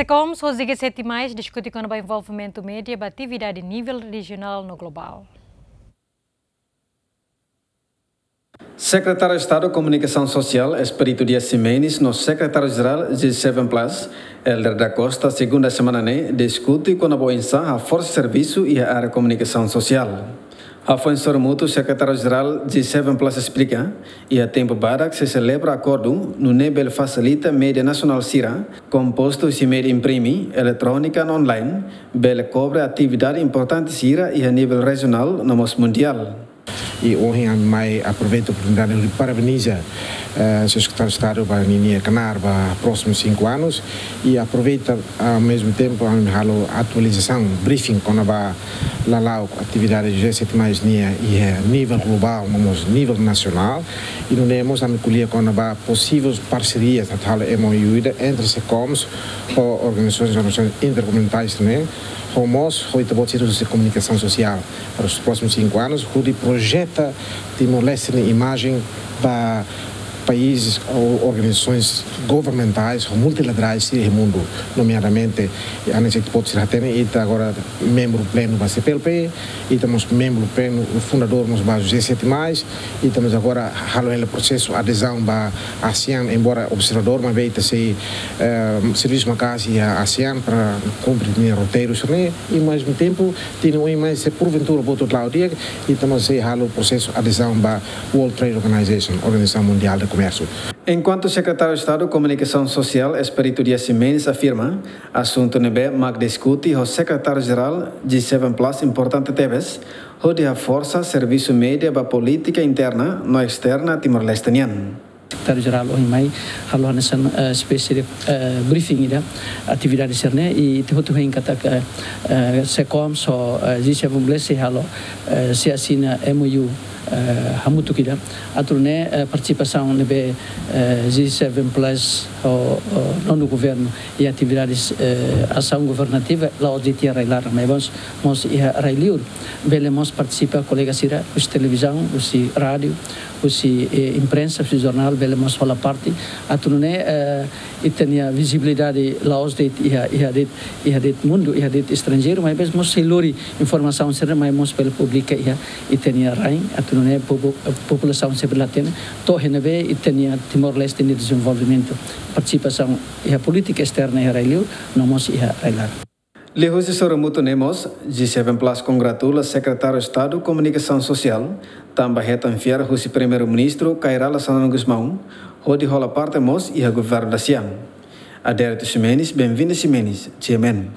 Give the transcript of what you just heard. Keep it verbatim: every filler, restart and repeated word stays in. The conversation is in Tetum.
SECOMS ho G sete mais diskute kona-ba envolvimentu média ba atividade nivel rejionál no globál. Sekretáriu Estadu Komunikasaun Sosiál, Expedito Dias Ximenes, no Sekretáriu Jerál G sete Plus, Helder da Costa, segunda semana ne'e, diskute kona-ba oinsá haforsa servisu iha área komunikasaun sosiál. Hafoin sorumutu, Sekretáriu Jerál G sete Plus esplika, iha tempu badak sei selebra akordu, nune'e bele fasilita média nasionál sira, kompostu husi média imprime, eletrónika no online, bele kobre atividade importante sira iha nivel rejionál no mós mundiál. I ohin ami mai aproveita oportunidade hodi parabeniza, eh, Señór Sekretáriu Estadu ba ninia knaar ba prósimu sinku anus, i aproveita, ao mesmo tempo, ami halo atualizasaun, briefing, kona-ba lala'ok atividade G sete mais nian iha nivel globál, no mós nivel nasionál, i nune'e mós ami ko'alia kona-ba posivel parserias, atu halo M O U ida entre SECOMS ho organizasoens, organizasoens intergovernamentais ne'e, ho mós ho ita-boot sira husi komunikasaun sosiál, para os próximos cinco anos, hodi projeta Timor-Leste nia imajen ba países ou organizasoens governamentais ou multilaterais iha mundu, nomeadamente, hanesan ita-boot sira hatene, ita agora membru plenu ba C P L P, ita mós membru plenu, fundadór mós ba G sete mais, ita mós agora halo hela prosesu adezaun ba ASEAN, embora observadór, maibé ita sei, eh, servisu maka'as iha ASEAN para kumpre ninia roteiru sira-ne'e, i ao mesmo tempo, tinan oin mai, se porventura, buat hotu la'o di'ak, ita mós sei halo prosesu adezaun ba World Trade Organization, Organização Mundial de Comércio. Enkuantu Sekretáriu Estadu Komunikasaun Sosiál, Expedito Dias Ximenes, afirma, asuntu ne'ebé mak diskute ho Sekretáriu Jerál G sete Plus importante tebes, hodi haforsa servisu média ba polítika interna no esterna Timor-Leste nian. Sekretáriu Jerál ohin mai halo hanesan, eh, espésie de, eh, briefing ida atividade sira-ne'e, i ita hotu hein katak, eh, eh, SECOMS ho, eh, G sete Plus sei halo, eh, sei asina M O U, eh, hamutuk ida. Atu nune'e, eh, partisipasaun ne'ebé, eh, G sete Plus ho, ho nonu governu iha atividades, eh, asaun governativa la'ós de'it iha rai-laran, maibé mós, mós iha rai-li'ur. Bele mós partisipa kolega sira husi televizaun, husi rádiu, husi, eh, imprensa, husi jornál, bele mós hola parte. Atu nune'e, eh, ita-nia vizibilidade la'ós de'it iha, iha de'it, iha de'it mundu, iha de'it estranjeiru, maibé mós sei lori informasaun sira, maibé mós bele publika iha ita-nia rain, atu nune'e popu-, populasaun sira bele hatene to'o iha ne'ebé ita-nia Timor-Leste nia dezenvolvimentu, partisipasaun iha polítika esterna iha rai-li'ur, no mós iha rai-laran. Liuhusi sorumutu ne'e mós, G sete Plus kongratula Sekretáriu Estadu Komunikasaun Sosiál, tanba hetan fiar husi Primeiru-Ministru Kay Rala Xanana Gusmão, hodi hola parte mós iha governu da ASEAN. Adérito Ximenes, Benvinda Ximenes, G M N.